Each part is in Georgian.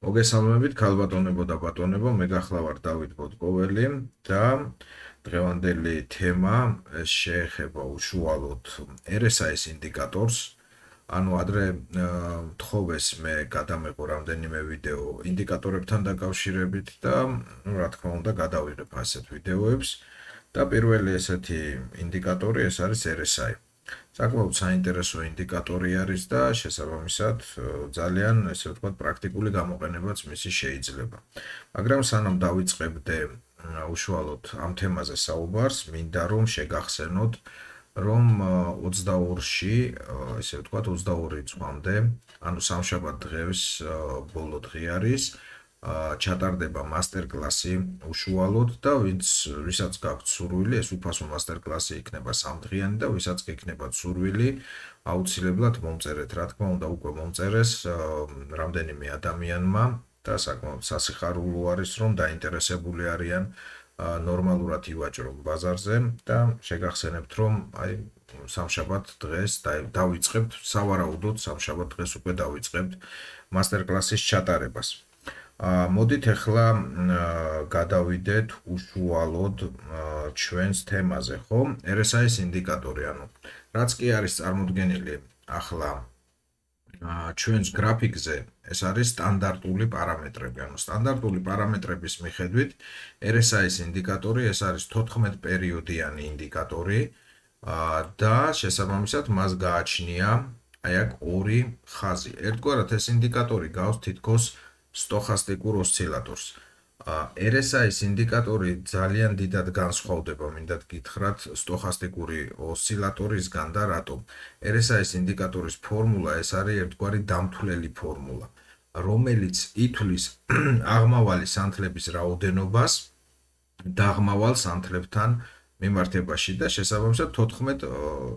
მოგესალმებით, ქალბატონებო და ბატონებო, მე გახლავართ დავით ბოტკოველი და დღევანდელი თემა შეეხება უშუალოდ RSI-ის ინდიკატორს. ანუ ადრე თხოვეს მე გადამეყო რამდენიმე ვიდეო ინდიკატორებთან დაკავშირებით და რა თქმა უნდა გადავიღებ ასეთ ვიდეოებს და პირველი ესეთი ინდიკატორი ეს არის RSI. საკმაოდ საინტერესო ინდიკატორი არის და შესაბამისად ძალიან ესე ვთქვათ პრაქტიკული გამოყენებაც მისი შეიძლება. მაგრამ სანამ დავიწყებდე უშუალოდ ამ თემაზე საუბარს, მინდა რომ შეგახსენოთ რომ 22-ში, ესე ვთქვათ 22 რიცხვამდე, ანუ სამშაბათ დღეს ბოლო დღე არის, ჩატარდება მასტერკლასი უშუალოდ და ვისაც გაქვთ სურვილი, ეს უფასო მასტერკლასი იქნება სამდღიანი და ვისაც იქნება სურვილი, აუცილებლად მომწერეთ, რა თქმა უნდა, უკვე მომწერეს რამდენიმე ადამიანმა და საკმაოდ სასიხარულო არის, რომ დაინტერესებული არიან ნორმალურად ივაჭრონ ბაზარზე და შეგახსენებთ, რომ აი სამშაბათ დღეს დავიწყებთ, სავარაუდოდ სამშაბათ დღეს უკვე დავიწყებთ მასტერკლასის ჩატარებას. მოდით ახლა გადავიდეთ უშუალოდ ჩვენს თემაზე, ხო? RSI-ის ინდიკატორი, ანუ რაც კი არის წარმოდგენილი ახლა ჩვენს გრაფიკზე, ეს არის სტანდარტული პარამეტრები. ანუ სტანდარტული პარამეტრების მიხედვით RSI-ის ინდიკატორი ეს არის 14 პერიოდიანი ინდიკატორი და შესაბამისად მას გააჩნია აი აქ ორი ხაზი. ერთგვარად ეს ინდიკატორი გავს თითქოს სტოხასტიკურ ოსცილატორს. RSI-ის ინდიკატორი ძალიან დიდად განსხვავდება, მინდათ გითხრათ, სტოხასტიკური ოსცილატორისგან და რატომ? RSI-ის ინდიკატორის ფორმულა ეს არის ერთგვარი დამთვლელი ფორმულა, რომელიც ითვლის აღმავალი სანთლების რაოდენობას დაღმავალ სანთლებთან მიმართებაში და შესაბამისად 14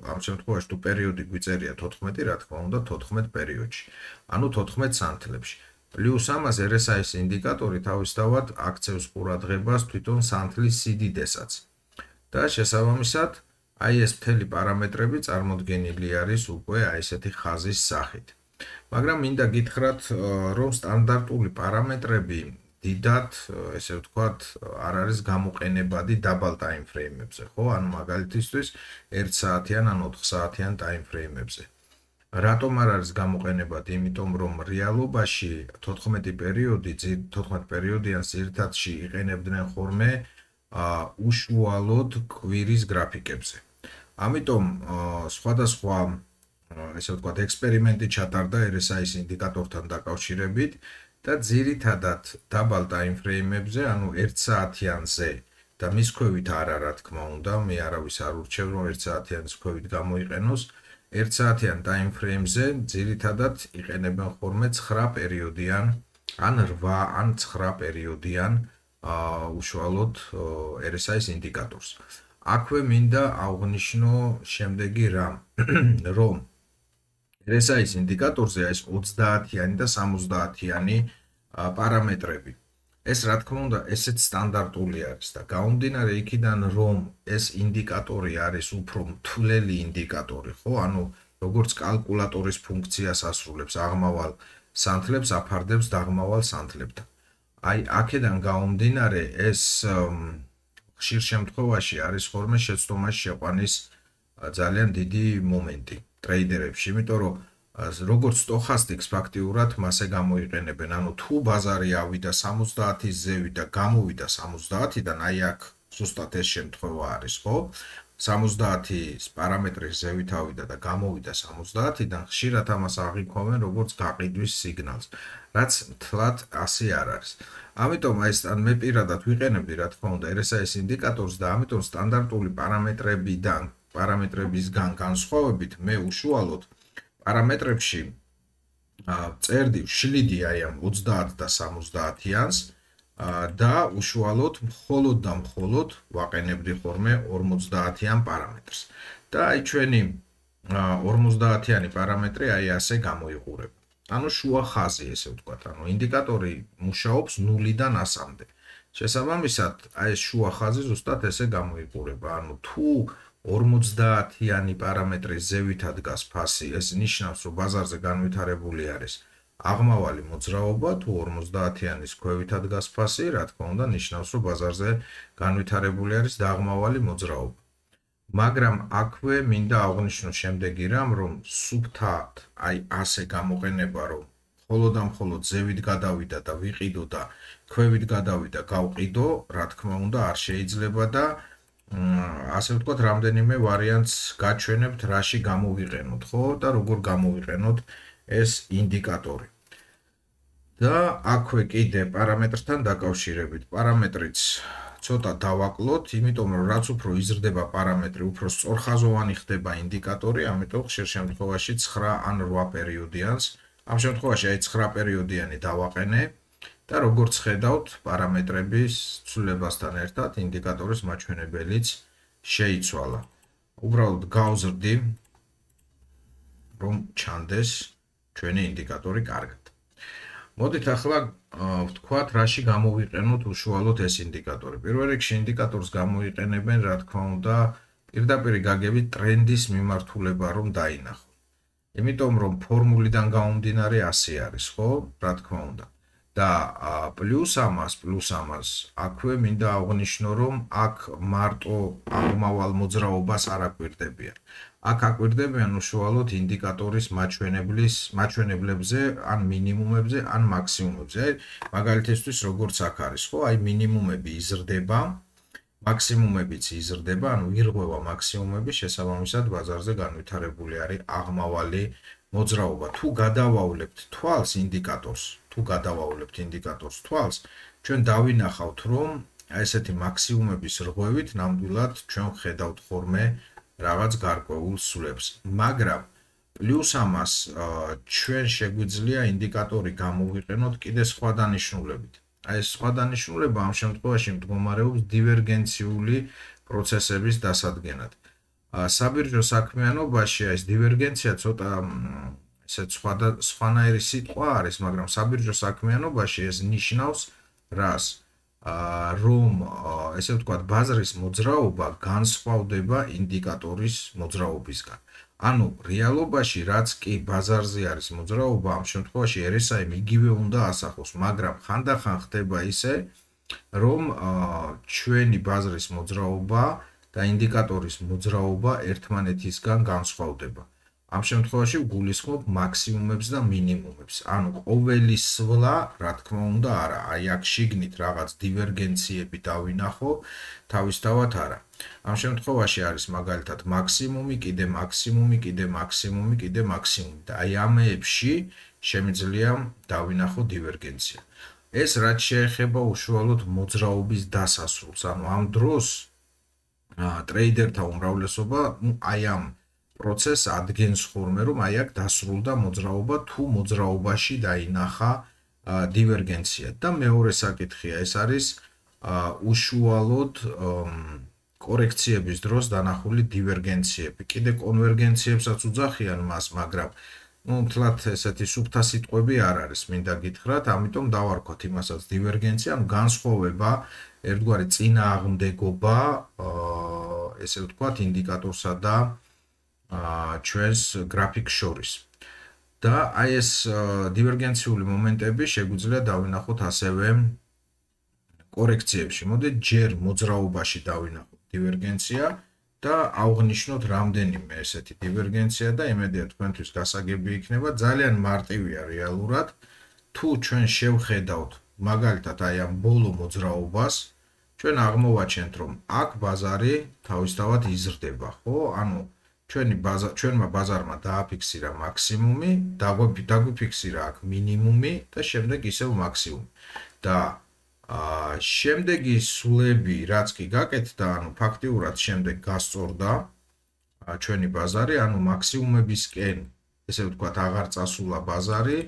ამ შემთხვევაში თუ პერიოდი გვიწერია 14, რა თქმა უნდა 14 პერიოდში, ანუ 14 სანთლებში. პლუს ამას RSI-ის ინდიკატორი თავისთავად აქცევს ყურადღებას თვითონ სანთლის სიდიდესაც. და შესაბამისად, აი ეს მთელი პარამეტრები წარმოდგენილი არის უკვე აი ესეთი ხაზის სახით. მაგრამ მინდა გითხრათ, რომ სტანდარტული პარამეტრები დიდად, ესე ვთქვათ, არ არის გამოყენებადი დაბალ ტაიმფრეიმებზე, ხო? ანუ მაგალითისთვის 1 საათიან ან 4 საათიან ტაიმფრეიმებზე. რატომ არ არის გამოყენებადი? იმიტომ რომ რეალობაში 14 პერიოდიან ძირითადში იყენებდნენ ხოლმე უშუალოდ კვირის გრაფიკებზე. ამიტომ სხვადასხვა ესე ვთქვათ ექსპერიმენტი ჩატარდა RSI-ის ინდიკატორთან დაკავშირებით და ძირითადად დაბალ ტაიმფრეიმებზე, ანუ 1 საათიანზე და მის ქვევით არა, რა თქმა უნდა, მე არავის არ ურჩევ რომ 1 საათიანის ქვევით გამოიყენოს. 1 საათიან ტაიმფრეიმზე ძირითადად იყენებენ ხოლმე 9 პერიოდიან ან 8 ან 9 პერიოდიან უშუალოდ RSI-ის ინდიკატორს. აქვე მინდა აღვნიშნო შემდეგი რამ, რომ RSI-ის ინდიკატორზე არის 30-იანი და 70-იანი პარამეტრები. ეს რა თქმა უნდა ესეც სტანდარტული არის და გამომდინარე იქიდან რომ ეს ინდიკატორი არის უფრო მთლელი ინდიკატორი, ხო? ანუ როგორც კალკულატორის ფუნქციას ასრულებს აღმავალ სანთლებს აფარდებს დაღმავალ სანთლებთან. აი აქედან გამომდინარე ეს ხშირ შემთხვევაში არის ხოლმე შეცდომაში შეყვანის ძალიან დიდი მომენტი ტრეიდერებში, იმიტომ რომ როგორც სტოხასტიკს ფაქტიურად მასე გამოიყენებენ, ანუ თუ ბაზარი ავიდა 70-ის ზევით და გამოვიდა 70-დან, აი აქ ზუსტად ეს შემთხვევა არის, ხო? 70-ის პარამეტრის ზევით ავიდა და გამოვიდა 70-დან, ხშირად ამას აღიქვამენ როგორც გაყიდვის სიგნალს, რაც მთლად ასე არ არის. ამიტომ აი მე პირადად ვიყენებდი, რა თქმა უნდა, RSI-ის ინდიკატორს და ამიტომ სტანდარტული პარამეტრებისგან განსხვავებით მე უშუალოდ პარამეტრებში წერდი შლიდი აი ამ 30 და 70-იანს და უშუალოდ მხოლოდ და მხოლოდ ვაყენებდი ხოლმე 50-იან პარამეტრს. და აი ჩვენი 50-იანი პარამეტრი აი ასე გამოიყურება. ანუ შუა ხაზი, ესე ვთქვათ, ანუ ინდიკატორი მუშაობს 0-დან 100-მდე. შესაბამისად, აი ეს შუა ხაზი ზუსტად ესე გამოიყურება. ანუ თუ 50-იანი პარამეტრის ზევითად დგას ფასი, ეს ნიშნავს, რომ ბაზარზე განვითარებული არის აღმავალი მოძრაობა თუ 50-იანის ქვევითად დგას ფასი, რა თქმა უნდა, ნიშნავს, რომ ბაზარზე განვითარებული არის დაღმავალი მოძრაობა. მაგრამ აქვე მინდა აღვნიშნო შემდეგი რამ, რომ სუფთად, აი ასე გამოყენება, რომ მხოლოდ და მხოლოდ ზევით გადავიდა და ვიყიდო და ქვევით გადავიდა გავყიდო, რა თქმა უნდა, არ შეიძლება და ასე ვთქვათ, რამდენიმე ვარიანტს გაჩვენებთ, რაში გამოვიყენოთ, ხო? და როგორ გამოვიყენოთ ეს ინდიკატორი. და აქვე კიდე პარამეტრთან დაკავშირებით, პარამეტრიც ცოტა დავაკლოთ, იმიტომ რომ რაც უფრო იზრდება პარამეტრი, უფრო სწორხაზოვანი ხდება ინდიკატორი, ამიტომ ხშირ შემთხვევაში 9 ან 8 პერიოდიანს, ამ შემთხვევაში აი 9 პერიოდიანი დავაყენე და როგორც ხედავთ, პარამეტრების ცვლილებასთან ერთად ინდიკატორის მაჩვენებელიც შეიცვალა. უბრალოდ გავზრდი, რომ ჩანდეს ჩვენი ინდიკატორი კარგად. მოდით ახლა ვთქვათ, რაში გამოვიყენოთ უშუალოდ ეს ინდიკატორი. პირველ რიგში ინდიკატორს გამოიყენებენ, რა თქმა უნდა, პირდაპირ გაგებით ტრენდის მიმართულება რომ დაინახო. იმიტომ რომ ფორმულიდან გამომდინარე ასე არის, ხო? რა თქმა უნდა. და პლუს ამას, აქვე მინდა აღვნიშნო, რომ აქ მარტო აღმავალ მოძრაობას არ აკვირდებიან. აქ აკვირდებიან უშუალოდ ინდიკატორის მაჩვენებლებზე, ან მინიმუმებზე, ან მაქსიმუმებზე. აი, მაგალითისთვის როგორც აქ არის, ხო? აი, მინიმუმები იზრდება, მაქსიმუმებიც იზრდება, ანუ ირღვევა მაქსიმუმები, შესაბამისად ბაზარზე განვითარებული არის აღმავალი მოძრაობა. თუ გადავავლებთ თვალს ინდიკატორს, თვალს, ჩვენ დავინახავთ, რომ ესეთი მაქსიმუმების რღვევით ნამდვილად ჩვენ ხედავთ ხოლმე რაღაც გარკვეულ სულებს. მაგრამ პლუს ამას ჩვენ შეგვიძლია ინდიკატორი გამოვიყენოთ კიდე სხვა დანიშნულებით. აი ეს სხვა დანიშნულება ამ შემთხვევაში მდგომარეობს დივერგენციული პროცესების დასადგენად. საბირჟო საქმიანობაში ეს დივერგენცია ცოტა ესეც სხვანაირი სიტყვა არის, მაგრამ საბირჟო საქმიანობაში ეს ნიშნავს რას? რომ ესე ვთქვათ, ბაზრის მოძრაობა განსხვავდება ინდიკატორის მოძრაობისგან. ანუ რეალობაში რაც კი ბაზარზე არის მოძრაობა, ამ შემთხვევაში RSI იგივე უნდა ასახოს, მაგრამ ხანდახან ხდება ისე, რომ ჩვენი ბაზრის მოძრაობა და ინდიკატორის მოძრაობა ერთმანეთისგან განსხვავდება. ამ შემთხვევაში ვგულისხმობ მაქსიმუმებს და მინიმუმებს. ანუ ყოველი სვლა, რა თქმა უნდა, არა. აი აქ შიგნით რაღაც დივერგენციები დავინახო, თავისთავად არა. ამ შემთხვევაში არის მაგალითად მაქსიმუმი, კიდე მაქსიმუმი და აი ამეებში შემიძლია დავინახო დივერგენცია. ეს რაც შეეხება უშუალოდ მოძრაობის დასასრულს, ანუ ამ დროს ტრეიდერთა უმრავლესობა, აი ამ პროცესს ადგენს ხოლმე, რომ აი აქ დასრულდა მოძრაობა თუ მოძრაობაში დაინახა დივერგენცია. და მეორე საკითხია, ეს არის უშუალოდ კორექციების დროს დანახული დივერგენციები. კიდე კონვერგენციებსაც უძახიან მას, მაგრამ თლათ ესეთი სუფთა სიტყვები არ არის, მინდა გითხრათ, ამიტომ დავარქვათ იმასაც დივერგენცია, ანუ განსხვავება, ერთგვარი წინააღმდეგობა, ესე ვთქვათ, ინდიკატორსა და ჩვენს გრაფიკს შორის. და აი ეს დივერგენციული მომენტები შეგვიძლია დავინახოთ ასევე კორექციებში. მოდით ჯერ მოძრაობაში დავინახოთ დივერგენცია და აღვნიშნოთ რამდენიმე ესეთი დივერგენცია და იმედია თქვენთვის გასაგები იქნება. ძალიან მარტივია რეალურად. თუ ჩვენ შევხედავთ მაგალითად აი ამ ბოლო მოძრაობას, ჩვენ აღმოვაჩენთ, რომ აქ ბაზარი თავისთავად იზრდება, ხო? ანუ ჩვენმა ბაზარმა დააფიქსირა მაქსიმუმი, დაგვიფიქსირა აქ მინიმუმი და შემდეგ ისევ მაქსიმუმი. და შემდეგი სულები, რაც კი გაკეთდა, ანუ ფაქტიურად შემდეგ გასწორდა ჩვენი ბაზარი, ანუ მაქსიმუმებისკენ, ესე ვთქვათ, აღარ წასულა ბაზარი,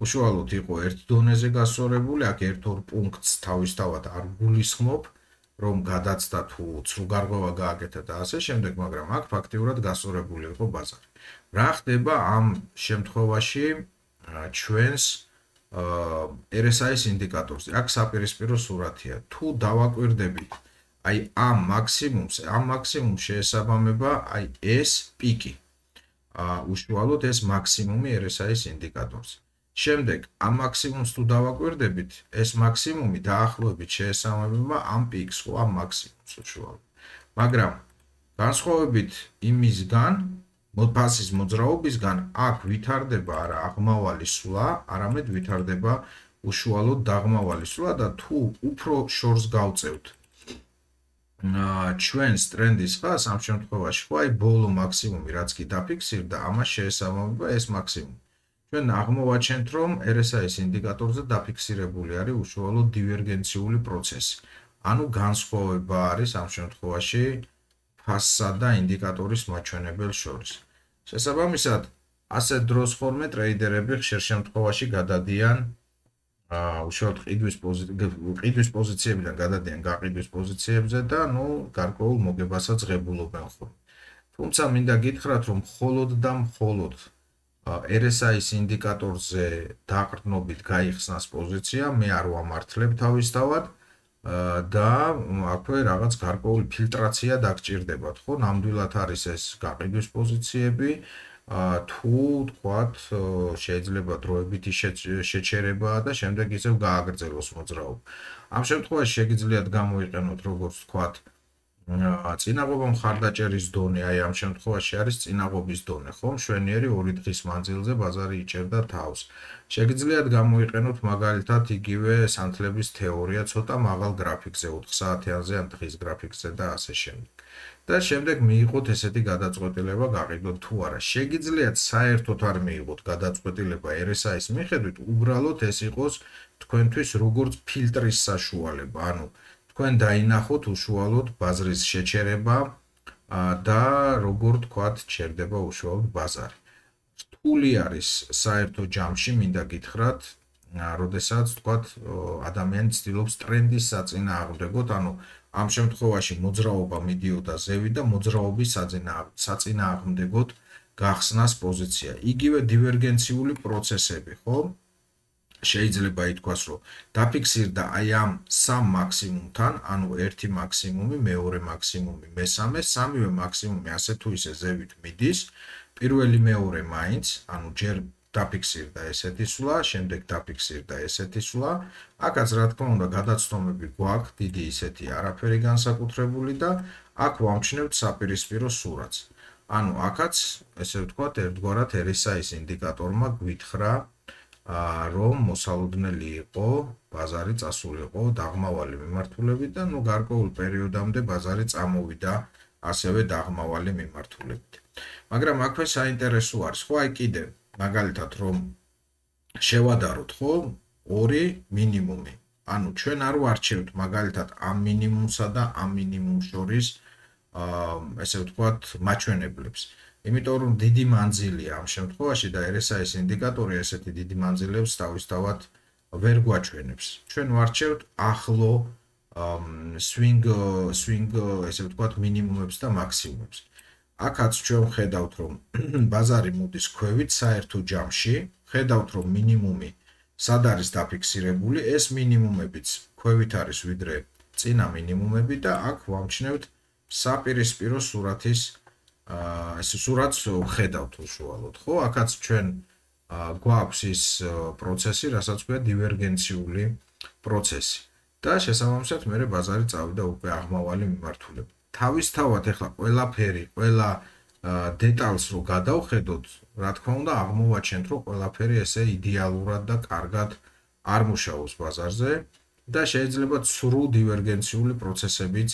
უშუალოდ იყო ერთ დონეზე გასწორებული, აქ ერთ-ორ პუნქტს თავისთავად არ გულისხმობ, რომ გადაცდა თუ ცრუგარღვევა გააკეთა და ასე შემდეგ, მაგრამ აქ ფაქტიურად გასწორებული იყო ბაზარი. რა ხდება ამ შემთხვევაში ჩვენს RSI-ის ინდიკატორზე? აქ საპირისპირო სურათია. თუ დავაკვირდებით აი ამ მაქსიმუმს შეესაბამება აი ეს პიკი. უშუალოდ ეს მაქსიმუმი RSI-ის ინდიკატორზე. შემდეგ ამ მაქსიმუმს თუ დავაკვირდებით, ეს მაქსიმუმი დაახლოებით შეესაბამება ამ პიკს, ხო, ამ მაქსიმუმს უშუალოდ. მაგრამ განსხვავებით იმისგან, ფასის მოძრაობისგან, აქ ვითარდება არა აღმავალი სვლა, არამედ ვითარდება უშუალოდ დაღმავალი სვლა და თუ უფრო შორს გავწევთ ჩვენს ტრენდის ხაზს, ამ შემთხვევაში ხო აი ბოლო მაქსიმუმი რაც კი დაფიქსირდა, ამას შეესაბამება ეს მაქსიმუმი. ჩვენ აღმოვაჩენთ, რომ RSI-ის ინდიკატორზე დაფიქსირებული არის უშუალოდ დივერგენციული პროცესი. ანუ განსხვავება არის ამ შემთხვევაში ფასსა და ინდიკატორის მაჩვენებელ შორის. შესაბამისად, ასეთ დროს ხოლმე ტრეიდერები ხშირ შემთხვევაში გადადიან უშუალოდ ყიდვის პოზიციებიდან გადადიან გაყიდვის პოზიციებზე და გარკვეულ მოგებასაც ღებულობენ ხოლმე. თუმცა მინდა გითხრათ, რომ მხოლოდ და მხოლოდ RSI-ის ინდიკატორზე დაყრდნობით გაიხსნას პოზიცია, მე არ ვამართლებ თავისთავად და აქვე რაღაც გარკვეული ფილტრაცია დაგჭირდებათ, ხო? ნამდვილად არის ეს გაყიდვის პოზიციები, თუ თქვათ შეიძლება დროებითი შეჩერებაა და შემდეგ ისევ გააგრძელოს მოძრაობა. ამ შემთხვევაში შეგიძლიათ გამოიყენოთ როგორც თქვათ წინაღობა მხარდაჭერის დონე, აი ამ შემთხვევაში არის წინაღობის დონე, ხო? მშვენიერი 2 დღის მანძილზე ბაზარი იჭერდა თავს. შეგიძლიათ გამოიყენოთ მაგალითად იგივე სანთლების თეორია ცოტა მაღალ გრაფიკზე, 4 საათიანზე ან დღის გრაფიკზე და ასე შემდეგ. და შემდეგ მიიღოთ ესეთი გადაწყვეტილება გაყიდოთ თუ არა. შეგიძლიათ საერთოდ არ მიიღოთ გადაწყვეტილება RSI-ის მიხედვით, უბრალოდ ეს იყოს თქვენთვის როგორც ფილტრის საშუალება, ანუ თქვენ დაინახოთ უშუალოდ ბაზრის შეჩერება და როგორ თქვათ ჩერდება უშუალოდ ბაზარი. რთული არის საერთო ჯამში, მინდა გითხრათ, როდესაც თქვათ ადამიანი ცდილობს ტრენდის საწინააღმდეგოდ, ანუ ამ შემთხვევაში მოძრაობა მიდიოდა ზევით და მოძრაობის საწინააღმდეგოდ გახსნას პოზიცია. იგივე დივერგენციული პროცესები, ხო? შეიძლება ითქვას, რომ დაფიქსირდა აი ამ სამ მაქსიმუმთან, ანუ ერთი მაქსიმუმი, მეორე მაქსიმუმი, მესამე, სამივე მაქსიმუმი ასე თუ ისე ზევით მიდის, პირველი მეორე მაინც, ანუ ჯერ დაფიქსირდა ესეთი სვლა, შემდეგ დაფიქსირდა ესეთი სვლა, აქაც რა თქმა უნდა გადაცდომები გვაქვს, დიდი ისეთი არაფერი განსაკუთრებული და აქ ვამჩნევთ საპირისპირო სურათს. ანუ აქაც, ესე ვთქვათ, ერთგვარად RSI-ის ინდიკატორმა გვითხრა რომ მოსალოდნელი იყო, ბაზარი წასულიყო დაღმავალი მიმართულებით და გარკვეულ პერიოდამდე ბაზარი წამოვიდა ასევე დაღმავალი მიმართულებით. მაგრამ აქვე საინტერესო არის, ხო, აი კიდე მაგალითად რომ შევადაროთ, ხო, 2 მინიმუმი. ანუ ჩვენ არ ვარჩევთ მაგალითად ამ მინიმუმსა და ამ მინიმუმს შორის ესე ვთქვათ მაჩვენებლებს. იმიტომ რომ დიდი მანძილია ამ შემთხვევაში და RSI-ის ინდიკატორი ესეთი დიდი მანძილებს თავისთავად ვერ გვაჩვენებს. ჩვენ ვარჩევთ ახლო swing ესე ვთქვათ მინიმუმებს და მაქსიმუმებს. აქაც ჩვენ ხედავთ რომ ბაზარი მოდის ქვევით საერთო ჯამში, ხედავთ რომ მინიმუმი სად არის დაფიქსირებული, ეს მინიმუმებიც ქვევით არის ვიდრე წინა მინიმუმები და აქ ვამჩნევთ საპირისპირო სურათის ეს სურათს ხედავთ უშუალოდ, ხო? აქაც ჩვენ გვაქვს ის პროცესი, რასაც ქვია დივერგენციული პროცესი. და შესაბამისად მე ბაზარი წავიდა უკვე აღმავალი მიმართულებით. თავისთავად ახლა ყველაფერი, ყველა დეტალს რო გადავხედოთ, რა თქმა უნდა, აღმოვაჩენთ, რომ ყველაფერი ესე იდეალურად და კარგად არ მუშაობს ბაზარზე და შეიძლება ცრუ დივერგენციული პროცესებიც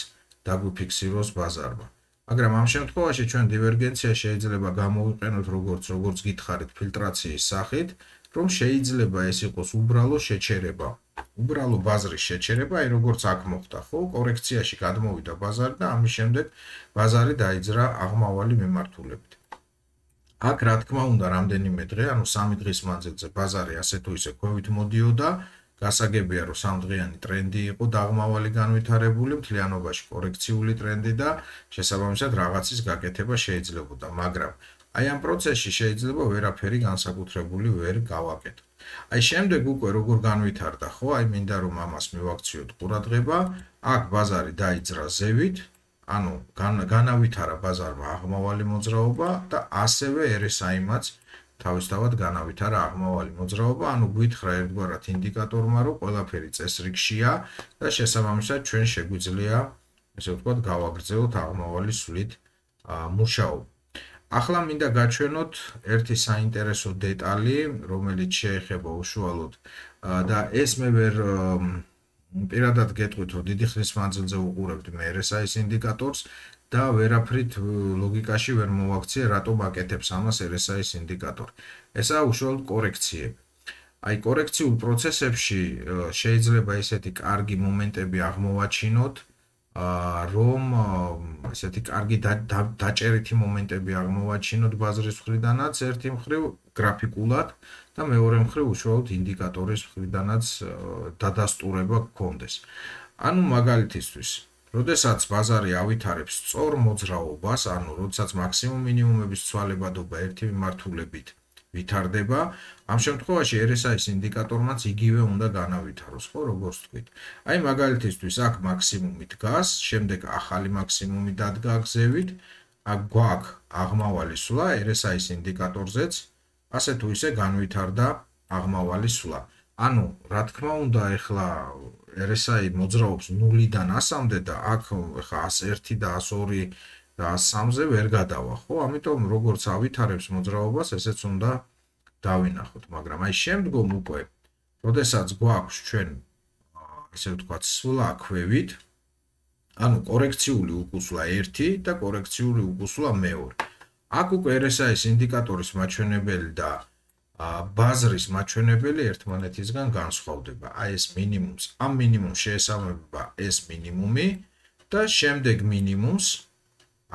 დაგვიფიქსიროს ბაზარმა. მაგრამ ამ შემთხვევაში ჩვენ დივერგენცია შეიძლება გამოვიყენოთ როგორც გითხარით ფილტრაციის სახით, რომ შეიძლება ეს იყოს უბრალო შეჩერება. უბრალო ბაზრის შეჩერება, აი როგორც აქ მოხდა, ხო, კორექციაში გადმოვიდა ბაზარი და ამის შემდეგ ბაზარი დაიძრა აღმავალი მიმართულებით. აქ რა თქმა უნდა რამდენიმე დღე, ანუ 3 დღის მანძილზე ბაზარი ასე თუ ისე ქვევით მოდიოდა, გასაგებია რომ 3 დღიანი ტრენდი იყო დაღმავალი განვითარებული, მთლიანობაში კორექციული ტრენდი და შესაბამისად რაღაცის გაკეთება შეიძლებოდა, მაგრამ აი ამ პროცესში შეიძლება ვერაფერი განსაკუთრებული ვერ გავაკეთო. აი შემდეგ უკვე როგორ განვითარდა, ხო, აი მინდა რომ ამას მივაქციოთ ყურადღება, აქ ბაზარი დაიძრა ზევით, ანუ განავითარა ბაზარმა აღმავალი მოძრაობა და ასევე RSI-მაც თავისთავად განავითარა აღმავალი მოძრაობა, ანუ გვითხრა ერთგვარად ინდიკატორმა, რომ ყველაფერი წესრიგშია და შესაბამისად ჩვენ შეგვიძლია, ესე ვთქვათ, გავაგრძელოთ აღმავალი სვლით მუშაობა. ახლა მინდა გაჩვენოთ ერთი საინტერესო დეტალი, რომელიც შეეხება უშუალოდ და ეს მე ვერ პირადად გეტყვით, რომ დიდი ხნის მანძილზე უყურებთ მე RSI-ის ინდიკატორს და ვერაფრით ლოგიკაში ვერ მოვაქციე, რატომ აკეთებს ამას RSI-ის ინდიკატორი. ესაა უშუალოდ კორექციები. აი კორექციულ პროცესებში შეიძლება ესეთი კარგი მომენტები აღმოვაჩინოთ, რომ ესეთი კარგი დაჭერითი მომენტები აღმოვაჩინოთ ბაზრის მხრიდანაც ერთი მხრივ გრაფიკულად და მეორე მხრივ უშუალოდ ინდიკატორის მხრიდანაც დადასტურება გქონდეს. ანუ მაგალითისთვის, როდესაც ბაზარი ავითარებს სწორ მოძრაობას, ანუ როდესაც მაქსიმუმ მინიმუმების ცვალებადობა ერთი მიმართულებით ვითარდება, ამ შემთხვევაში RSI-ის ინდიკატორმაც იგივე უნდა განავითაროს, ხო, როგორც თქვით. აი მაგალითისთვის აქ მაქსიმუმი დგას, შემდეგ ახალი მაქსიმუმი დადგა გზევით, აქ გვაქვს აღმავალი სვლა RSI-ის ინდიკატორზეც, ასე თუ ისე განვითარდა აღმავალი სვლა. ანუ, რა თქმა უნდა, ეხლა RSI მოძრაობს 0-დან 100-მდე და აქ ეხლა 101 და 102 და 103-ზე ვერ გადავა, ხო? ამიტომ როგორც ავითარებს მოძრაობას, ესეც უნდა დავინახოთ, მაგრამ აი შემდგომ უკვე, როდესაც გვაქვს ჩვენ, ესე ვთქვათ, სვლა ქვევით, ანუ კორექციული უკუსვლა 1 და კორექციული უკუსვლა 2. აქ უკვე RSI-ის ინდიკატორის მაჩვენებელი და ბაზრის მაჩვენებელი ერთმანეთისგან განსხვავდება. აი ეს მინიმუმს, ამ მინიმუმს შეესაბამება ეს მინიმუმი და შემდეგ მინიმუმს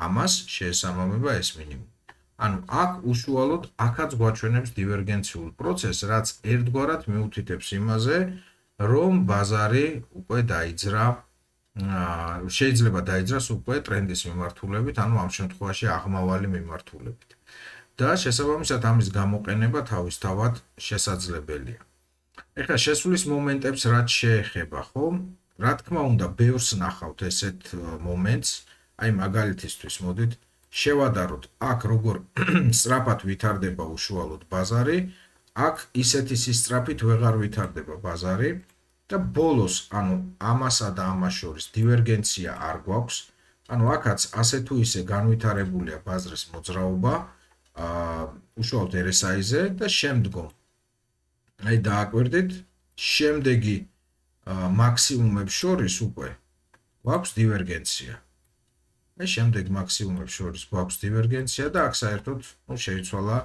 ამას შეესაბამება ეს მინიმუმი. ანუ აქ უშუალოდ აქაც გვაჩვენებს დივერგენციულ პროცესს, რაც ერთგვარად მიუთითებს იმაზე, რომ ბაზარი უკვე დაიძრა, შეიძლება დაიძრას უკვე ტრენდის მიმართულებით, ანუ ამ შემთხვევაში აღმავალი მიმართულებით. და შესაბამისად ამის გამოყენება თავისთავად შესაძლებელია. ეხლა შესვლის მომენტებს რაც შეეხება, ხო? რა თქმა უნდა, ბევრს ნახავთ ესეთ მომენტს, აი მაგალითისთვის მოდით შევადაროთ, აქ როგორ სწრაფად ვითარდება უშუალოდ ბაზარი, აქ ისეთი სისწრაფით ვეღარ ვითარდება ბაზარი და ბოლოს, ანუ ამასა და ამას შორის დივერგენცია არ გვაქვს, ანუ აქაც ასე თუ ისე განვითარებულია ბაზრის მოძრაობა, უშუალოდ RSI-ზე და შემდგომ აი დააკვირდით, შემდეგი მაქსიმუმებს შორის უკვე გვაქვს დივერგენცია. აი შემდეგ მაქსიმუმებს შორის გვაქვს დივერგენცია და აქ საერთოდ შეიცვალა,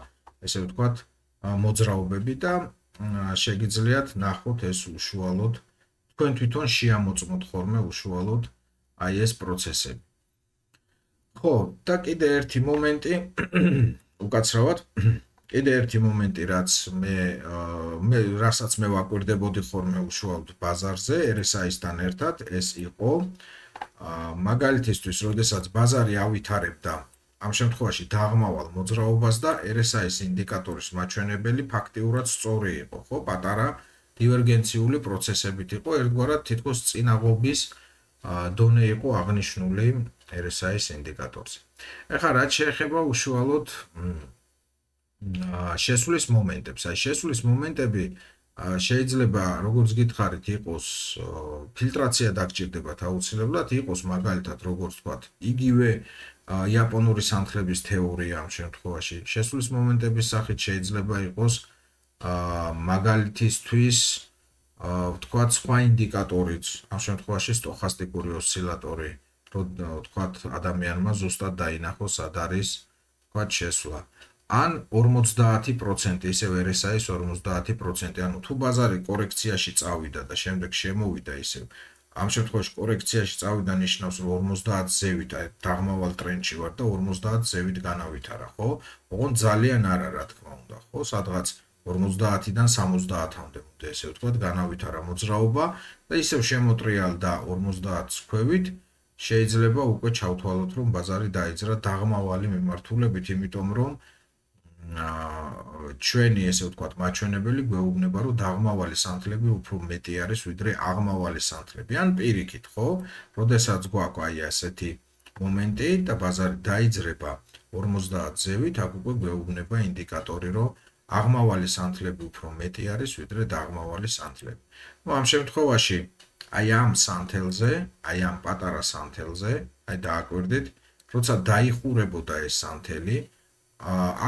ესე ვთქვათ, მოძრაობები და შეგიძლიათ ნახოთ ეს უშუალოდ, თქვენ თვითონ შეამოწმოთ ხოლმე უშუალოდ აი ეს პროცესები. ხო, და კიდე ერთი მომენტი უკაცრავად, კიდე ერთი მომენტი, რასაც მე ვაკვირდებოდი ხოლმე უშუალოდ ბაზარზე, RSI-სთან ერთად, ეს იყო მაგალითისთვის, როდესაც ბაზარი ავითარებდა ამ შემთხვევაში დაღმავალ მოძრაობას და RSI-ის ინდიკატორის მაჩვენებელი ფაქტიურად სწორი იყო, ხო, პატარა დივერგენციული პროცესებით იყო, ერთგვარად თითქოს წინაღობის დონე იყო აღნიშნული RSI-ის ინდიკატორზე. ეხლა რაც შეეხება უშუალოდ შესვლის მომენტებს, აი შესვლის მომენტები შეიძლება, როგორც გითხარით, იყოს ფილტრაცია დაგჭირდებათ აუცილებლად, იყოს მაგალითად, როგორც ვთქვათ, იგივე იაპონური სანთლების თეორია ამ შემთხვევაში. შესვლის მომენტების სახით შეიძლება იყოს მაგალითისთვის, ვთქვათ, სხვა ინდიკატორიც, ამ შემთხვევაში სტოხასტიკური ოსცილატორი, ვთქვათ, ადამიანმა ზუსტად დაინახოს სად არის, ვთქვათ, შესვლა. ან 50%, ისევ RSI-ის 50%, ანუ თუ ბაზარი კორექციაში წავიდა და შემდეგ შემოვიდა ისევ, ამ შემთხვევაში კორექციაში წავიდა ნიშნავს, რომ 50 ზევით დაღმავალ ტრენდში ვარ და 50 ზევით განავითარა, ხო? ოღონდ ძალიან არა, რა თქმა უნდა, ხო? სადღაც 50-დან 70-მდე, ესე ვთქვათ, განავითარა მოძრაობა და ისევ შემოტრიალდა 50-ს ქვევით, შეიძლება უკვე ჩავთვალოთ, რომ ბაზარი დაიძრა დაღმავალი მიმართულებით, იმიტომ რომ ჩვენი, ესე ვთქვათ, მაჩვენებელი გვეუბნება, რომ დაღმავალი სანთლები უფრო მეტი არის, ვიდრე აღმავალი სანთლები. ან პირიქით, ხო? როდესაც გვაქვს აი ასეთი მომენტი და ბაზარი დაიძრება 50 ზევით, აქ უკვე გვეუბნება ინდიკატორი, რომ აღმავალი სანთლები უფრო მეტი არის, ვიდრე დაღმავალი სანთლები. ამ შემთხვევაში აი ამ სანთელზე, აი ამ პატარა სანთელზე, აი დააკვირდით, როცა დაიხურებოდა ეს სანთელი,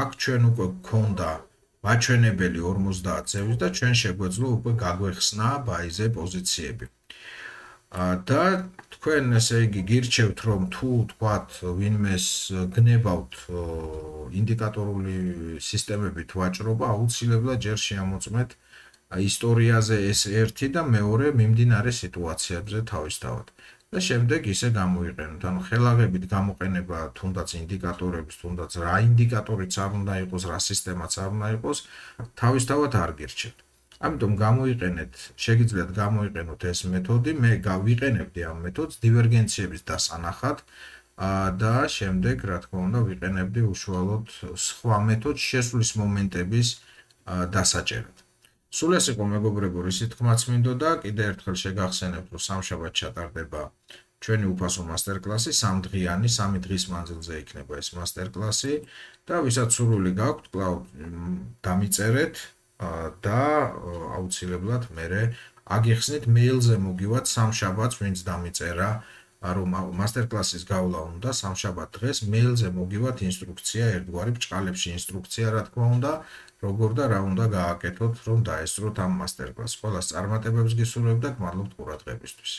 აქ ჩვენ უკვე გქონდა მაჩვენებელი 50 ზევის და ჩვენ შეგვეძლო უკვე გაგვეხსნა ბაიზე პოზიციები. და თქვენ ესე იგი გირჩევთ რომ თუ თქვათ ვინმეს გნებავთ ინდიკატორული სისტემებით ვაჭრობა, აუცილებლად ჯერ შეამოწმეთ ისტორიაზე ეს ერთი და მეორე მიმდინარე სიტუაციებზე თავისთავად. და შემდეგ ისე გამოიყენოთ. ანუ ხელაღებით გამოყენება თუნდაც ინდიკატორების, თუნდაც რა ინდიკატორიც არ უნდა იყოს, რა სისტემაც არ უნდა იყოს, თავისთავად არ გირჩევთ. ამიტომ გამოიყენეთ, შეგიძლიათ გამოიყენოთ ეს მეთოდი, მე გავიყენებდი ამ მეთოდს დივერგენციების დასანახად და შემდეგ, რა თქმა უნდა, ვიყენებდი უშუალოდ სხვა მეთოდს შესვლის მომენტების დასაჭერად. სულ ეს იყო მეგობრებო, ისი თქმაც მინდოდა, კიდევ ერთხელ შეგახსენებთ, რომ სამშაბათს ჩატარდება ჩვენი უფასო მასტერკლასი, 3 დღიანი, 3 დღის მანძილზე იქნება ეს მასტერკლასი და ვისაც სურვილი გაქვთ, კვლავ დამიწერეთ და აუცილებლად მერე აგიხსნით მეილზე მოგივათ სამშაბათს, ვინც დამიწერა, რომ მასტერკლასის გავლა უნდა სამშაბათ დღეს მეილზე მოგივათ ინსტრუქცია, ერთგვარი ბჭყალებში ინსტრუქცია, რა თქმა უნდა, როგორ და რა უნდა გააკეთოთ, რომ დაესწროთ ამ მასტერკლასს. ყველას წარმატებებს გისურვებთ და გმადლობთ ყურადღებისთვის.